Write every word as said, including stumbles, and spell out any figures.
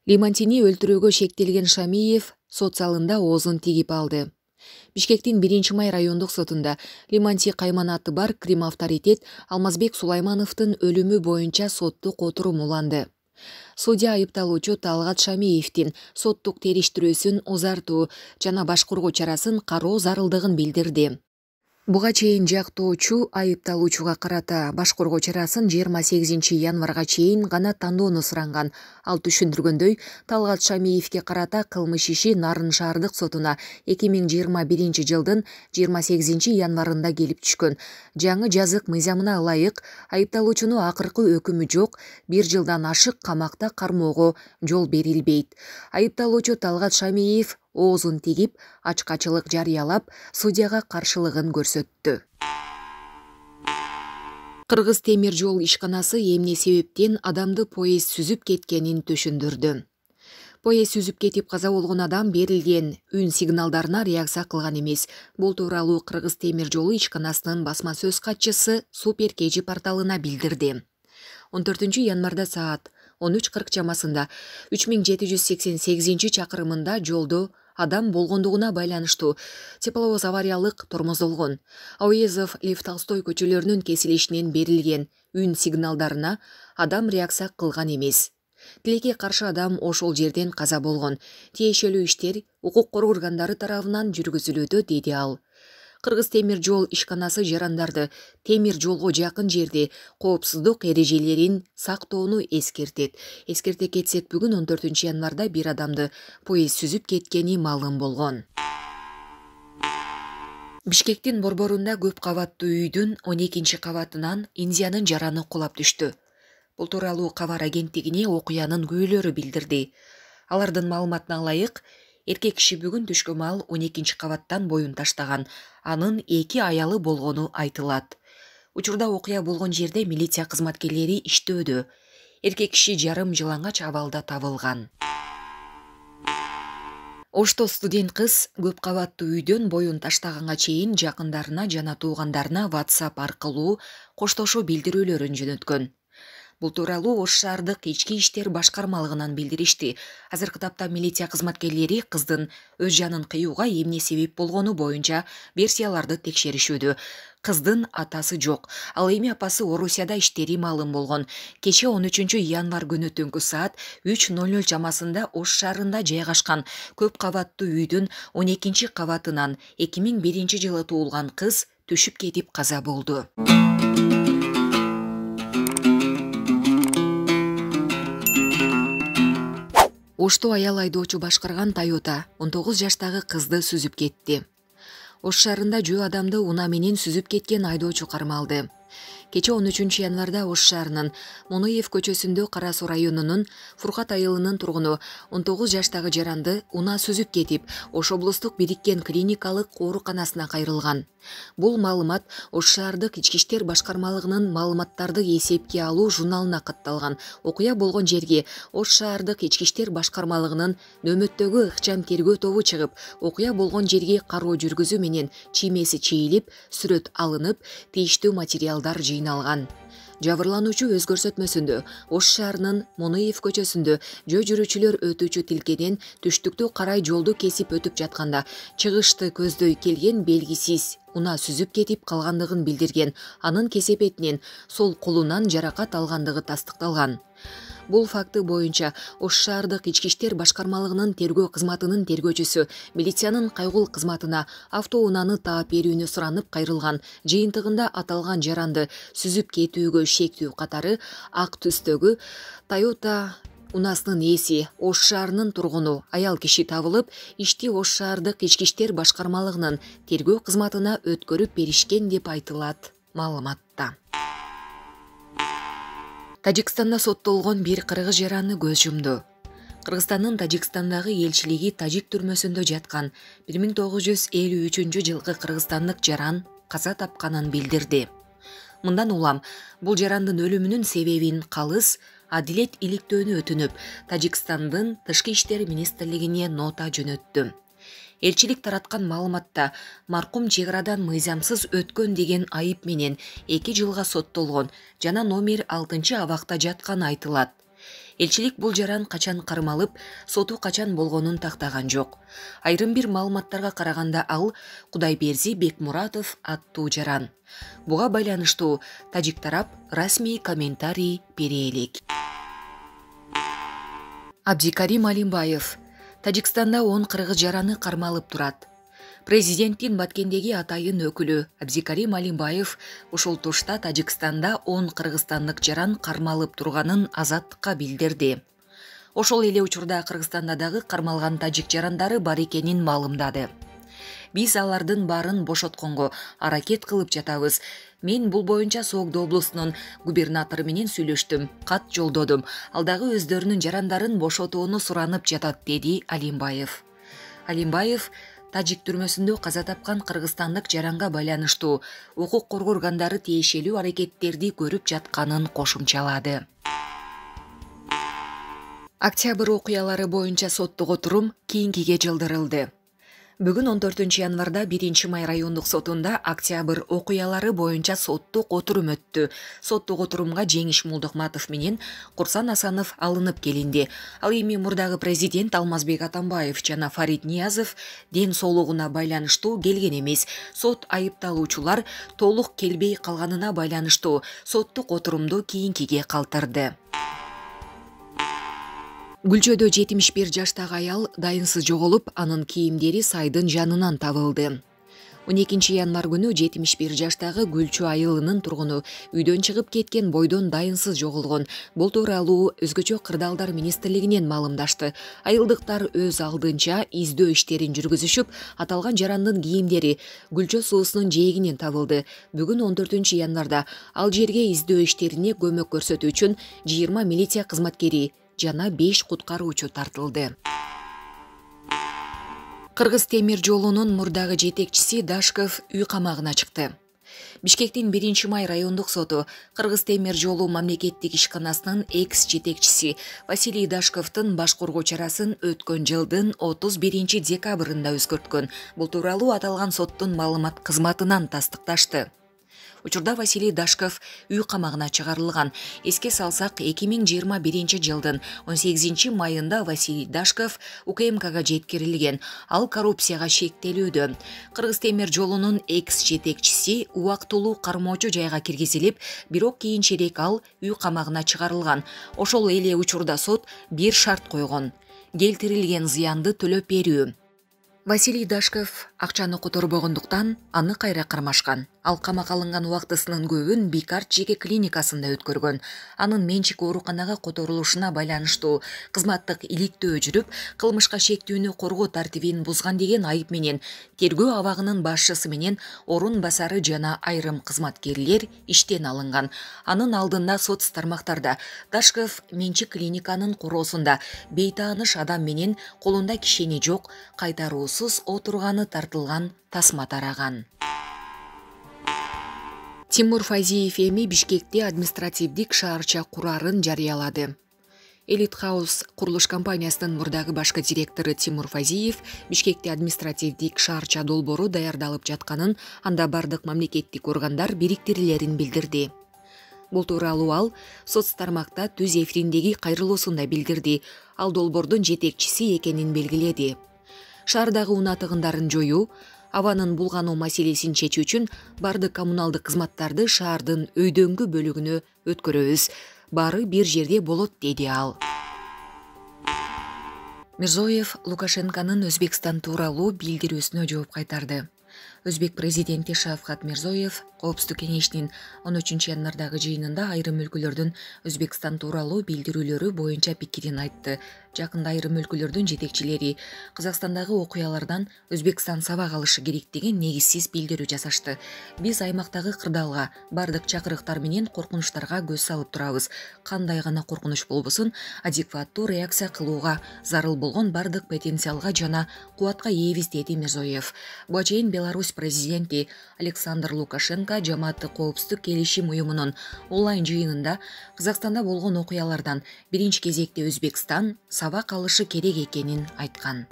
Лимантини өлтүрүүгө шектелген Шамиев сот залында оозун тигип алды. Бишкектин биринчи май райондук сотунда Лиманти кайманаты бар Крим авторитет Алмазбек Сулаймановдун өлүмү боюнча соттук отурум уланды. Судья айыпталуучу Талгат Шамиевдин соттук териштирүүсүн узартуу жана башкаруу чарасын кароо зарылдыгын билдирди. Буга чейин жактоочу айыпталуучуга карата башкаруу чарасын жыйырма сегизинчи январга чейин гана тандоону суранган. Ал түшүндүргөндөй, Талгат Шамиевге карата кылмыш иши Нарын шаардык сотуна эки миң жыйырма биринчи жылдын жыйырма сегизинчи январында келип түшкөн. Жаңы жазык мыйзамына ылайык айыпталуучуну акыркы өкүмү жок бир жылдан ашык камакта кармоого жол берилбейт. Айыпталуучу Талгат Шамиев оозун тигип, ачкачылык жарыялап, судьяга каршылыгын көрсөттү. Кыргыз темир жол ишканасы эмне себептен адамды поезд сүзүп кеткенин түшүндүрдү. Поезд сүзүп кетип каза болгон адам берилген үн сигналдарына реакция кылган эмес. Бул тууралуу Кыргыз темир жолу ишканасынын басма сөз катчысы Супер Кежи порталына билдирди. он төртүнчү январда саат он үч кырк чамасында үч миң жети жүз сексен сегизинчи чакырымында жолдо адам болгондугуна байланыштуу тепловоз авариялык тормоздолгон. Ауезов, Лев Толстой көчөлөрүнүн кесилишинен берилген үн сигналдарына адам реакция кылган эмес. Тилекке каршы адам ошол жерден каза болгон. Тиешелүү иштер укук коргоо органдары тарабынан жүргүзүлүүдө, деди ал. Кыргыз темир жол ишканасы жарандарды темир жолго жакын жерде коопсуздук эрежелерин сактоону эскертет. Эскерте кетсек, бүгүн он төртүнчү январда бир адамды поезд сүзүп кеткени маалым болгон. Бишкектин борборунда көп кабаттуу үйдүн он экинчи кабатынан Индиянын жараны кулап түштү. Бул тууралуу кабар агенттигине окуянын күбөлөрү билдирди. Алардын маалыматына ылайык, эркек киши бүгүн түшкө маал он экинчи кабаттан боюн таштаган. Анын эки аялы болгону айтылат. Учурда окуя болгон жерде милиция кызматкерлери иштөөдө. Эркек киши жарым жылаңач абалда табылган. Ошто студент кыз көп кабаттуу үйдөн боюн таштаганга чейин жакындарына жана туугандарына WhatsApp аркылуу коштошуу билдирүүлөрүн жөнөткөн. Бул тууралуу Ош шаардык ички иштер башкармалыгынан билдиришти. Азыркы тапта милиция кызматкерлери кыздын өз жанын кыюуга эмне себеп болгону боюнча версияларды текшеришүүдө. Кыздын атасы жок. Ал эми апасы Орусияда иштери маалым болгон. Кече он үчүнчү январ күнү түнкү саат үч ноль ноль чамасында Ош шаарында жайгашкан көп кабаттуу үйдүн он экинчи кабатынан эки миң биринчи жылы туулган кыз түшүп кетип каза болду. Ошто аял айдоочу башкарган Toyota он тогуз жаштагы кызды сүзүп кетти. Ош шаарында жөө адамды унаа менен сүзүп кеткен айдоочу кармалды. Кече он үчүнчү январда Ош шаарынын Монуев көчөсүндө Кара Суу районунун Фуркат айылынын тургуну он тогуз жаштагы жаранды унаа сүзүп кетип, Ош облустук бириккен клиникалык ооруканасына кайрылган. Бул маалымат Ош шаардык ички иштер башкармалыгынын маалыматтарды эсепке алуу журналына катталган. Окуя болгон жерге Ош шаардык ички иштер башкармалыгынын нөөмөттөгү ыкчам тергөө тобу чыгып, окуя болгон жерге кароо жүргүзүү менен чиймеси чийилип, сүрөт алынып, тийиштүү материалдар жыйналган. Жабырлануучу өз көрсөтмөсүндө Ош шаарынын Монуев көчөсүндө жөө жүрүүчүлөр өтүүчү тилкеден түштүктү карай жолду кесип өтүп жатканда чыгышты көздөй келген белгисиз унаа сүзүп кетип калгандыгын билдирген. Анын кесепетинен сол колунан жаракат алгандыгы тастыкталган. Бул факты боюнча Ош шаардык ички иштер башкармалыгынын тергөө кызматынын тергөөчүсү милициянын кайгул кызматына автоунааны таап берүүнү суранып кайрылган. Жыйынтыгында аталган жаранды сүзүп кетүүгө шектүү катары ак түстөгү Toyota унаасынын ээси Ош шаарынын тургуну аял киши табылып, ишти Ош шаардык ички иштер башкармалыгынын тергөө кызматына өткөрүп беришкен деп айтылат маалыматта. Тажикстанда соттолгон бир кыргыз жараны көз жумду. Кыргызстандын Тажикстандагы элчилиги тажик түрмөсүндө жаткан бир миң тогуз жүз элүү үчүнчү жылкы кыргызстандык жаран каза тапканын билдирди. Мындан улам бул жарандын өлүмүнүн себебин калыс адилет иликтөөнү өтүнүп, Тажикстандын тышкы иштер министрлигине нота жөнөттү. Элчилик тараткан маалыматта маркум чек арадан мыйзамсыз өткөн деген айып менен эки жылга соттолгон жана номер алтынчы абакта жатканы айтылат. Элчилик бул жаран качан кармалып, соту качан болгонун тактаган жок. Айрым бир маалыматтарга караганда ал Кудайберди Бекмуратов аттуу жаран. Буга байланыштуу тажик тарап расмий комментарий бере элек. Абдикарим Алимбаев. Тажикстанда он кыргыз жараны кармалып турат. Президенттин Баткендеги атайын өкүлү Абдикарим Алимбаев ушул тушта Тажикстанда он кыргызстандык жаран кармалып турганын Азаттыкка билдирди. Ошол эле учурда Кыргызстанда дагы кармалган тажик жарандары бар экенин маалымдады. Биз алардын баарын бошотконго аракет кылып жатабыз. Мен бул боюнча Согдо облусунун губернатору менен сүйлөштүм, кат жолдодум. Ал дагы өздөрүнүн жарандарын бошотууну суранып жатат, деди Алимбаев. Алимбаев тажик түрмөсүндө каза тапкан кыргызстандык жаранга байланыштуу укук коргоо органдары тиешелүү аракеттерди көрүп жатканын кошумчалады. Октябрь окуялары боюнча соттук отурум кийинкиге жылдырылды. Бүгүн он төртүнчү январда биринчи май райондук сотунда октябрь окуялары боюнча соттук отурум өттү. Соттук отурумга Жеңиш Молдокматов менен Курсан Асанов алынып келинди. Ал эми мурдагы президент Алмазбек Атамбаев жана Фарид Ниязов ден соолугуна байланыштуу келген эмес. Сот айыпталуучулар толук келбей калганына байланыштуу соттук отурумду кийинкиге калтырды. Гүлчөдө жетимиш бир жаштагы аял дайынсыз жоголуп, анын кийимдери сайдын жанынан табылды. он экинчи январ күнү жетимиш бир жаштагы Гүлчө айылынын тургуну үйдөн чыгып кеткен бойдон дайынсыз жоголгон. Бул тууралуу Өзгөчө кырдаалдар министрлигинен маалымдашты. Айылдыктар өз алдынча издөө иштерин жүргүзүшүп, аталган жарандын кийимдери Гүлчө суусунун жээгинен табылды. Бүгүн он төртүнчү январда ал жерге издөө иштерине көмөк көрсөтүү үчүн жыйырма милиция кызматкери жана беш куткаруучу тартылды. Кыргыз темир жолунун мурдагы жетекчиси Дашков үй камагына чыкты. Бишкектин биринчи май райондук соту Кыргыз темир жолу мамлекеттик ишканасынын экс жетекчиси Василий Дашковдун башкаруу чарасын өткөн жылдын отуз биринчи декабрында өзгөрткөн. Бул тууралуу аталган соттун маалымат кызматынан тастыкташты. Учурда Василий Дашков үй камагына чыгарылган. Эске салсак, эки миң жыйырма биринчи жылдын он сегизинчи майында Василий Дашков УКМКга жеткирилген. Ал коррупцияга шектелүүдө. Кыргыз темир жолунун экс жетекчиси убактылуу кармоочу жайга киргизилип, бирок кийинчерээк ал үй камагына чыгарылган. Ошол эле учурда сот бир шарт койгон: келтирилген зыянды төлөп берүү. Василий Дашков акчаны которбогондуктан аны кайра кармашкан. Ал камакка алынган убактысынын көбүн Бикарт жеке клиникасында өткөргөн. Анын менчик ооруканага которулушуна байланыштуу кызматтык иликтөө жүрүп, кылмышка шектүүнү коргоо тартибин бузган деген айып менен тергөө абагынын башчысы менен орун басары жана айрым кызматкерлер иштен алынган. Анын алдында соц тармактарда Дашков менчик клиниканын короосунда бейтааныш адам менен колунда кишени жок, кайтаруусуз отурганы тартылган тасма тараган. Тимур Файзиев эми Бишкекте административдик шаарча курарын жарыялады. Элит Хаус курулуш компаниясынын мурдагы башкы директору Тимур Файзиев Бишкекте административдик шаарча долбоору даярдалып жатканын, анда бардык мамлекеттик органдар бириктирилерин билдирди. Бул тууралуу ал соц тармакта түз эфириндеги кайрылуусунда билдирди. Ал долбоордун жетекчиси экенин белгиледи. Шаардагы унаа тыгындарын жоюу, абанын булгануу маселесин чечүү үчүн бардык коммуналдык кызматтарды шаардын өйдөңкү бөлүгүнө өткөрөбүз. Баары бир жерде болот, деди ал. Мирзоев Лукашенконун Өзбекстан тууралуу билдирүүсүнө жооп кайтарды. Өзбек президенти Шавкат Мирзоев Коопсуздук кеңешинин он үчүнчү январдагы жыйынында айрым өлкөлөрдүн Өзбекстан тууралуу билдирүүлөрү боюнча пикирин айтты. Жакында айрым өлкөлөрдүн жетекчилери Казакстандагы окуялардан Өзбекстан сабак алышы керек деген негизсиз билдирүү жасашты. Биз аймактагы кырдаалга бардык чакырыктар менен коркунучтарга көз салып турабыз. Кандай гана коркунуч болбосун, адекваттуу реакция кылууга зарыл болгон бардык потенциалга жана кубатка ээбиз, деди Мирзоев. Буга чейин Беларусь президенти Александр Лукашенко Жамааттык коопсуздук келишим уюмунун онлайн жыйынында Казакстанда болгон окуялардан биринчи кезекте Өзбекстан сабак алышы керек экенин айткан.